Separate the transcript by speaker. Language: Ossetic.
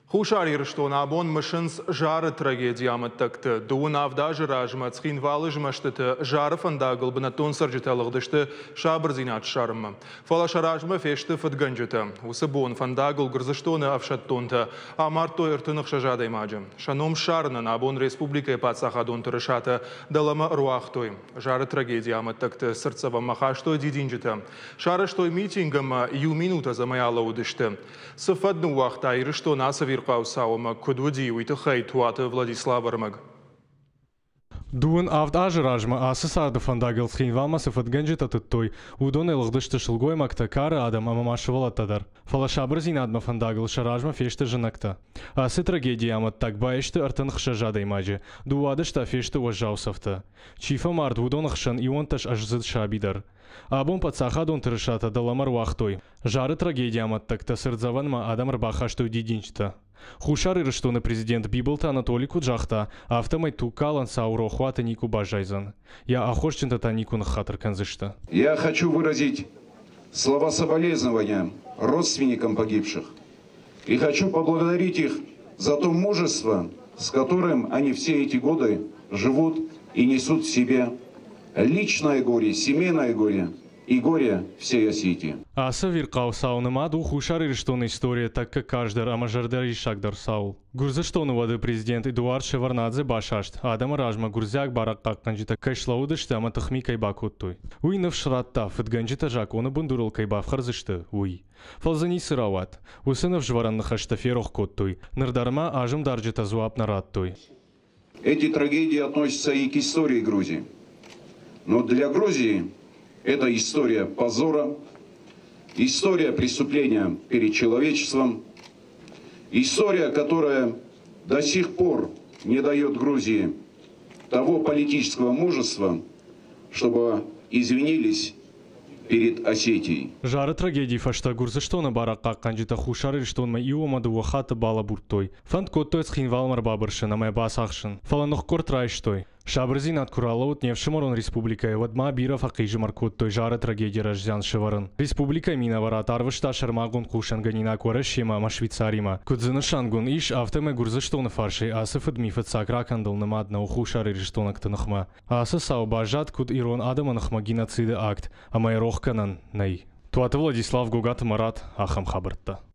Speaker 1: Хуссар Ирыстон абон мысынц Зары трагедийы амӕттӕгты. 27 азы размӕ Цхинвалы змӕстыты Зары фӕндагыл бынӕттон цӕрджытӕ лыгъдысты сабырдзинад ссарынмӕ. Фӕлӕ сӕ размӕ фесты фыдгӕнджытӕ. Уыцы бон фӕндагыл Гуырдзыстоны ӕфсӕддонтӕ амардтой 36 адӕймаджы. Сӕ ном ссарынӕн абон республикӕйы паддзахадон тырысатӕ дӕлӕмӕ ӕруагътой. Зары трагедийы амӕттӕгты цыртдзӕвӕнмӕ хастой дидинджытӕ. Сарӕзтой митинг ӕмӕ иу минут ӕдзӕмӕй алӕууыдысты. Цы фӕд ныууагъта Ирыстон ацы ӕвирхъау цау ӕмӕ куыд уыди, уый тыххӕй Туаты Владислав ӕрмӕг.
Speaker 2: 27 азы размӕ ацы царды фӕндагыл Цхинвалмӕ цы фыдгӕнджытӕ тыдтой, уыдонӕй лыгъдысты сылгоймӕгтӕ, кары адӕм ӕмӕ ма сывӕллӕттӕ дӕр. Фӕлӕ сабырдзинадмӕ фӕндагыл сӕ размӕ фесты знӕгтӕ. Ацы трагедийы амӕттаг баисты 36 адӕймаджы, 12 та фесты уӕззау цӕфтӕ. Чи фӕмард, уыдоны хсӕн 11 аздзыд саби дӕр. Абон паддзахадон тырысатӕ дӕлӕмӕ руагътой. Зары трагедийы амӕттӕгтӕ цыртдзӕвӕнмӕ адӕм ӕрбахастой дидинджытӕ. Хуссар Ирыстоны президент Бибылты Анатоли куыд загъта, афтӕмӕй тугкалӕн цау рохуаты никуы баззайдзӕн. Йӕ аххосджынтӕ та никуы ныххатыр кӕндзысты.
Speaker 3: Я хочу выразить слова соболезнования родственникам погибших и хочу поблагодарить их за то мужество, с которым они все эти годы живут и несут в себе личное горе, семейное горе и горе всей Осетии.
Speaker 2: Ацы ӕвирхъау цау нымад у Хуссар Ирыстоны историйӕ тӕккӕ карздӕр ӕмӕ зӕрдӕриссагдӕр цауыл. Гуырдзыстоны уӕды президент Эдуард Шеварднадзе басаст, адӕмы размӕ гуырдзиаг барадхъахъхъӕнджытӕ кӕй слӕууыдысты ӕмӕ тыхми кӕй бакодтой. Уый ныфс радта, фыдгӕнджытӕ закъоны бындурыл кӕй бафхӕрдзысты, уый. Фӕлӕ дзы ницы рауад. Уыцы ныфсвӕрӕн ныхӕстӕ ферох кодтой. Ныр дӕр ма азымдарджытӕ дзуапп нӕ радтой.
Speaker 3: Эти трагедии относятся и к истории Грузии. Но для Грузии это история позора, история преступления перед человечеством, история, которая до сих пор не дает Грузии того политического мужества, чтобы извинились перед Осетией.
Speaker 2: Зары трагедийы фӕстӕ Гуырдзыстоны барадхъахъхъӕнджытӕ Хуссар Ирыстонмӕ иу ӕмӕ дыууӕ хатты балӕбурдтой. Фӕнд кодтой Цхинвалмӕ ӕрбабырсын ӕмӕ бацахсын, фӕлӕ ныхкъуырд райстой. Сабырдзинад куы ралӕууыд не фсымӕрон республикӕйы, уӕд ма бирӕ фӕхъизӕмар кодтой Зары трагедийы раззиан сӕвӕрын. Республикӕйы минӕварад арвыста сӕрмагонд хъусынгӕнинаг Уӕрӕсемӕ ӕмӕ Швейцаримӕ. Куыд дзы нысангонд ис, афтӕмӕй Гуырдзыстоны фарсӕй ацы фыдми фыццаг ракӕндыл нымад нӕу хуссарирыстойнӕгты ныхмӕ. Ацы цау баззад куыд ирон адӕмы ныхмӕ геноциды акт, ӕмӕ йӕ рох кӕнӕн нӕй. Туаты Владислав, Гогаты Марат, ахӕм хабӕрттӕ.